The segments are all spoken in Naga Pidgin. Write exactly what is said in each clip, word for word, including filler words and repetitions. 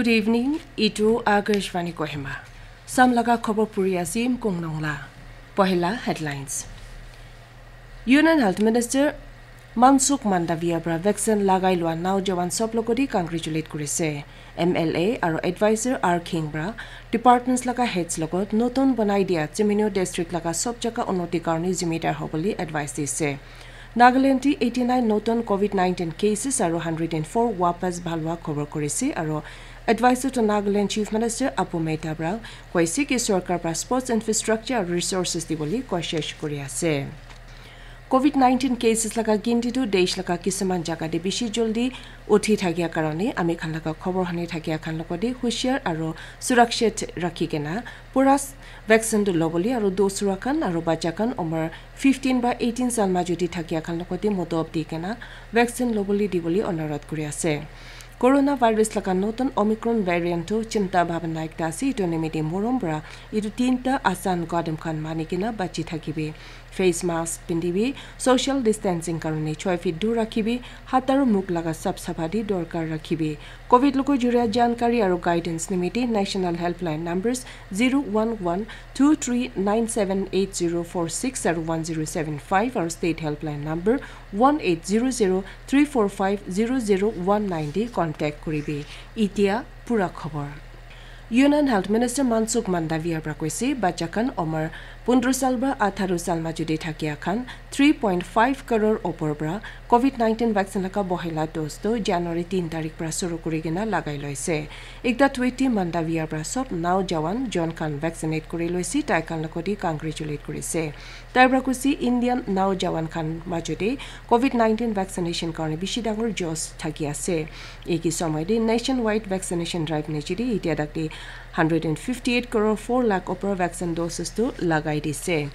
Good evening, itu Akashvani Kohima. Sam laga khobor puri asim kong nong la. Pohila headlines. Union Health Minister Mansukh Mandaviya pra vaccine lagai lua naujawan sob logoti congratulate kurise. M L A aro advisor R Khing pra departments laga heads logot notun banai dia Chimino district laga sob jaga unnoti karone zimedar hobole advice dise. Nagaland ti eighty nine notun covid nineteen cases aro hundred and four wapas bhalwa khobor kurise aro advisor to Nagaland Chief Minister Apu Mehta pra koise ki sorkar pra sports infrastructure aro resources dibole koshish kuri ase. Covid nineteen cases laga ginti tu desh laga kisuman jaga te bishi joldi uthi thakia karone ami khan laga khobor hane thakia khan logote hushiar aro surakshit rakhi kena pura vaccine tu lobole aro dosra khan aro bacha khan umar fifteen ba eighteen sal majo te thakia khan logote motob di kena vaccine lobole dibole onurodh kuri ase. Coronavirus laga notun Omicron variant tu chinta bhabana ekta ase, etu nimite morom pra etu tinta asan kadam khan mani kena bachi thakibi. Face mask pindibi, social distancing karone choi feet dur rakhibi, hat aru mukh laga sap sapha di dorkar rakhibi. Covid logo juria jankari aru guidance nimite national helpline numbers zero one one two three nine seven eight zero four six aru one zero seven five aru state helpline number one eight zero zero three four five zero zero one nine te contact kuribi. Itia pura khobor. Union Health Minister Mansukh Mandaviya pra koise, bacha khan umar pondro sal pra atharo sal majo te thakia khan three point five crore opor pra covid nineteen vaccine laga bohela dose tu January tin tarik pra suru kuri kena lagai loise. Ekta tweet te Mandaviya pra sob naujawan jon khan vaccinate kuri loise, tai khan logote congratulate kurise. Tai pra koise Indian naujawan khan majo te covid nineteen vaccination karone bishi dangor josh thaki ase. Eki somoy te nationwide vaccination drive niche te itia tak te hundred and fifty eight crore four lakh opor vaccine doses tu lagai dise.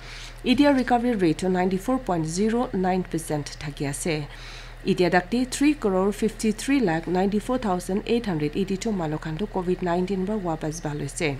Itia recovery rate tu ninety four point zero nine percent thaki ase. Itia tak te three crore fifty three lakh ninety four thousand eight hundred eighty two manu khan tu covid nineteen pra wapas bhal hoise.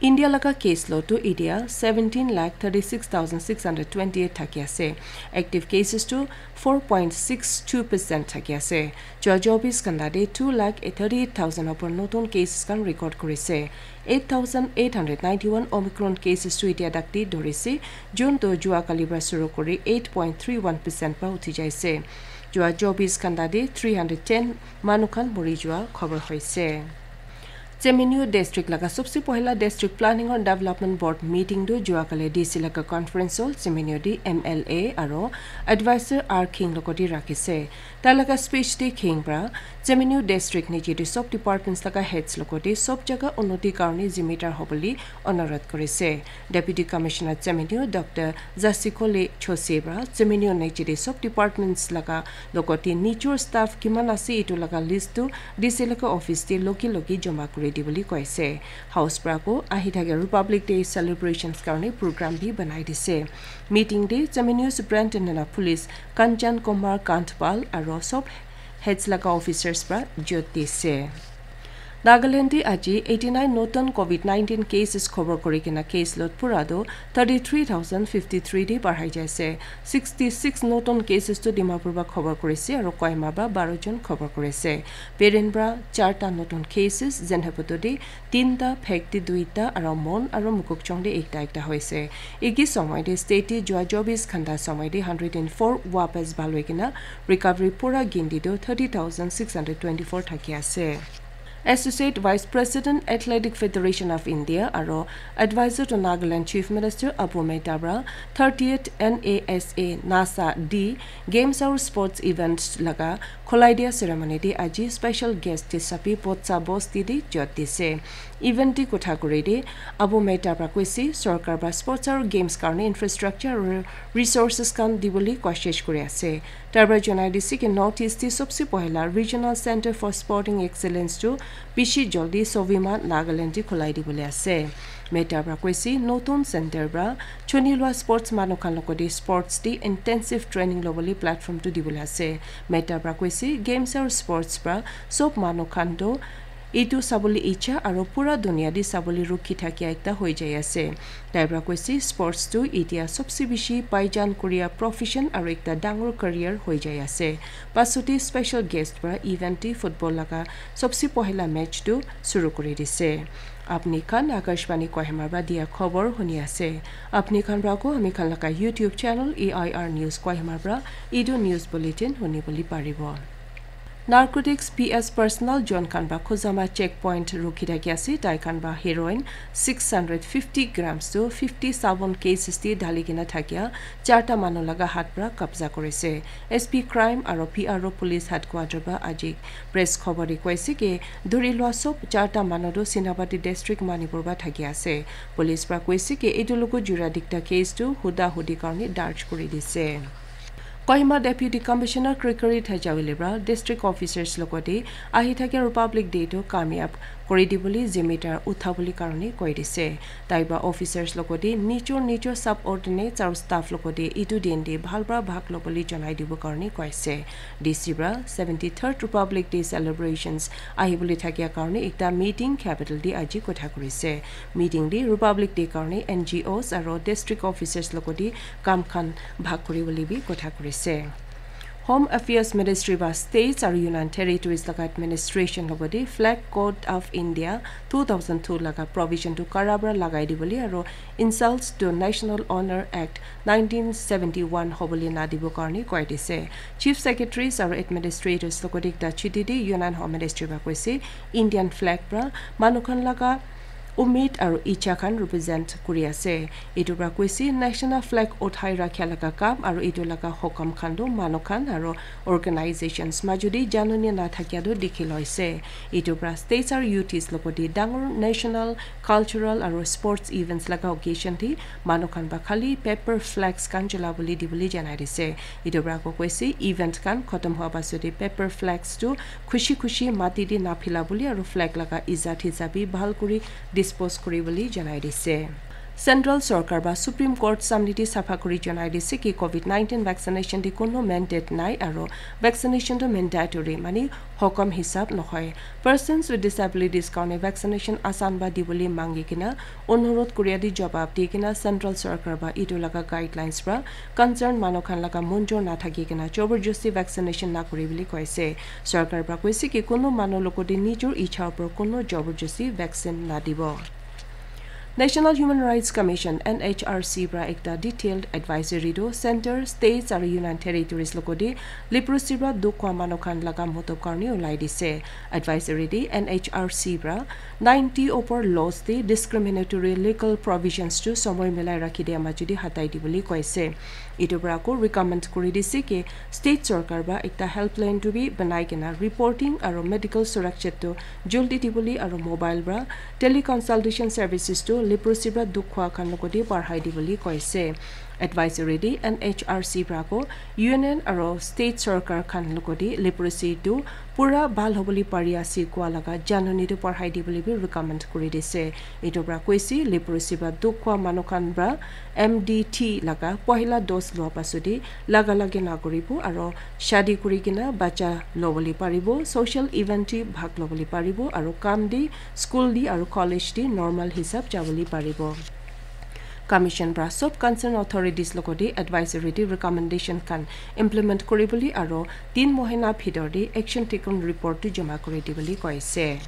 India laga case load tu itia seventeen lakh thirty six thousand six hundred twenty eight thaki ase. Active cases tu four point six two percent thaki ase. Jua chobis ghanta te two lakh thirty eight thousand opor notun cases khan record kurise. Eight thousand eight hundred ninety one Omicron cases tu itia tak te dorise, jun tu jua kali pra suru kuri eight point three one percent pra uthi jaise. Jua chobis ghanta te three hundred ten manu khan mori jua khobor hoise. Chemenu district laga sobse pohila district planning and development board meeting tu jua kali D C laga conference hall Chemenu di M L A aro advisor R Khing logote rakhise. Tai laga speech te Khing pra Chemenu district niche te sob departments laga heads logote sob jaga unnoti karone zimedar hobole onurodh kurise. Deputy Commissioner Chemenu Doctor Zasikole Chose pra Chemenu niche te sob departments laga logote nijor staff kiman ase etu laga list tu D C laga office te loki loki joma kuri dibole koise. House pra ko ahi thaka Republic Day celebrations karone program bi banai dise. Meeting te Chemenu Superintendent of Police Kanchan Kumar Kantpal aro sob heads laga officers pra jot dise. Nagaland te aji eighty nine notun covid nineteen cases khobor kuri kena case load pura tu thirty three thousand fifty three te barhai jaise. Sixty six notun cases tu Dimapur pra khobor kurise aro Kohima pra baro jon khobor kurise. Peren pra charta notun cases, Zunheboto te tinta, Phek te duita aro Mon aro Mokokchung te ekta ekta hoise. Eki somoy te state te jua chobis ghanta somoy te hundred and four wapas bhal hoi kena recovery pura ginti tu thirty thousand six hundred twenty four thaki ase. Associate Vice President Athletic Federation of India aro Advisor to Nagaland Chief Minister Apu Mehta pra thirtieth N A S A NASA D Games aru Sports Event laga khulai dia ceremony te aji special guest hisabe Botsa Bose didi jot dise. Event te kotha kuri te Apu Mehta pra koise sorkar pra sports aru games karone infrastructure aru resources khan dibole koshish kuri ase. Tai pra janai dise ki North East te sobse pohila Regional Center for Sporting Excellence tu bishi joldi Sovima Nagaland te khulai dibole ase. Mehta pra koise notun center pra chuni lua sports manu khan logote sports te intensive training lobole platform tu dibole ase. Mehta pra koise games aru sports pra sob manu khan tu Etu sabole icha aro pura dunia te sabole rukhi thakia ekta hoi jai ase. Tai pra koise, sports tu itia sobse bishi paijan kuria profession aro ekta dangor career hoi jai ase. Pasute special guest pra event te football laga sobse pohila match tu shuru kuri dise. Apni khan Akashvani Kohima pra dia khobor huni ase. Apni khan pra ko ami khan laga YouTube channel A I R News Kohima pra etu news bulletin huni bole paribo. Narcotics P S personnel jon khan pra Khuzama checkpoint rukhi thaki ase, tai khan pra heroin six hundred fifty grams to fifty seven cases te dhali kena thakia charta manu laga hat pra kabza kurise. S P crime aro P R O police headquarter pra aji press khobor te koise ki dhuri lua sob charta manu tu Senapati district Manipur pra thaki ase. Police pra koise ki etu logo jura dikta case tu huda hudi karne darj kuri dise. Kohima Deputy Commissioner Gregory Thejawile pra district officers logote ahi thakia Republic Day tu kamyab kuri dibole zimedar uthabole karne koi dise. Tai pra officers logote nijor nijor subordinates aro staff logote etu din te bhal pra bhag lobole janai dibo karne koise. D C pra seventy third Republic Day celebrations ahibole thakia karne ekta meeting capital te aji kotha kurise. Meeting te Republic Day karne N G Os aro district officers logote kam khan bhag kuri bole bi kotha kurise. Home Affairs Ministry ba states aro Union Territories laga administration logote Flag Code of India two thousand two laga provision tu kara pra lagai dibole aro insults to National Honor Act nineteen seventy one hobole na dibo karne koi dise. Chief Secretaries aro Administrators logote ekta chiti te Union Home Ministry ba koise Indian flag pra manu khan laga umid aro icha khan represent kuri ase. Etu pra koise national flag uthai rakha laga kam aro etu laga hokam khan tu manu khan aro organizations majudi janani na thakia tu dikhi loise. Etu pra states aro U Ts logote dangor national, cultural aro sports events laga occasion te manu khan ba khali paper flags khan jolabole dibole janai dise. Etu pra ko koise event khan khotom hua pasute paper flags tu khushi khushi mati te naphila bole aro flag laga izat hisab bi bhal kuri dispose kuri bole janai dise. Central Sorkar ba Supreme Court samne te sapha kuri janai dise ki covid nineteen vaccination te kono mandate nai aro vaccination tu mandatory mane hokam hisab nohoi. Persons with disabilities karne vaccination asan ba dibole mangi kena onurodh kuria te jawab di kena Central Sorkar ba etu laga guidelines pra concern manu khan laga monjor na thaki kena jabarjosti vaccination na kuri bole koise. Sorkar pra koise ki kono manu logote nijor icha upor kono jabarjosti vaccine na dibo. National Human Rights Commission, N H R C pra ekta detailed advisory tu center, states aro Union Territories logote leprosy pra dukh kwa manu khan laga motob karne ulai dise. Advisory te N H R C pra ninety upor laws te discriminatory legal provisions tu somoi milai rakhi dia majudi hatai dibole koise. Etu pra ko recommend kuri dise ki state sorkar pra ekta helpline tu bi banai kena reporting aro medical suraksha tu joldi dibole aro mobile pra teleconsultation services tu leprosy pra dukh kwa khan logote barhai dibole koise. Advisory te N H R C pra ko union aro state sorkar khan logote leprosy tu pura bhal hobole pari ase kua laga janani tu barhai dibole bi recommend kuri dise. Etu pra koise leprosy pra dukh kwa manu khan pra M D T laga pohila dose lua pasute laga lagi na kuribo aro shadi kuri kena bacha lobole paribo, social event te bhag lobole paribo aro kam te, school te aro college te normal hisab jabole paribo. Commission pra sob concern authorities logote advisory te recommendation khan implement kuri bole aro tin mohina bhitor te action taken report tu jama kuri dibole koise.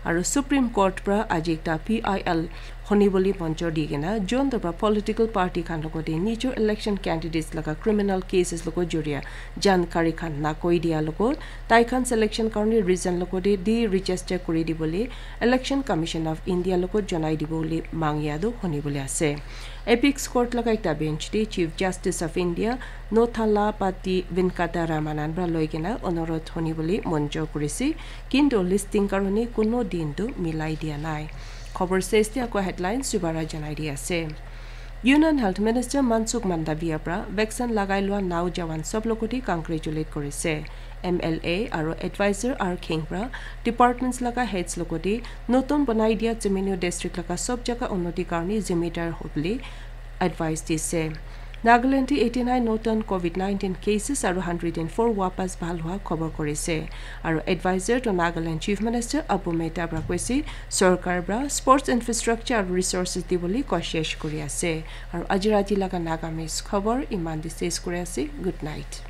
Aro Supreme Court pra aji ekta P I L huni bole monjor di kena jon pra political party khan logote nijor election candidates laga criminal cases logo juria jankari khan na koi dia logo tai khan selection karne reason logote deregister kuri dibole Election Commission of India logo janai dibole mangia tu huni bole ase. Apex Court laga ekta bench te Chief Justice of India Nothalapathy Venkata Ramanan pra loi kena onurodh huni bole monjor kurise, kintu listing karone kono din tu milai dia nai. Khobor ses te ako headlines dubara janai di ase. Union Health Minister Mansukh Mandaviya pra vaccine lagai lua naujawan sob logote congratulate kurise. M L A aro advisor R Kheng pra departments laga heads logote notun banai dia Chiminu district laga sob jaga unnoti karne zimedar hobole advice dise. Nagaland te eighty nine noton covid nineteen cases aru hundred and four wapas bhal hua khobor korise. Aru advisor to Nagaland Chief Minister Abu Mehta pra koise, sorkar pra sports infrastructure aru resources dibole koshish kuri ase. Aru aji rati laga Nagamese khobor iman te ses kuri ase. Good night.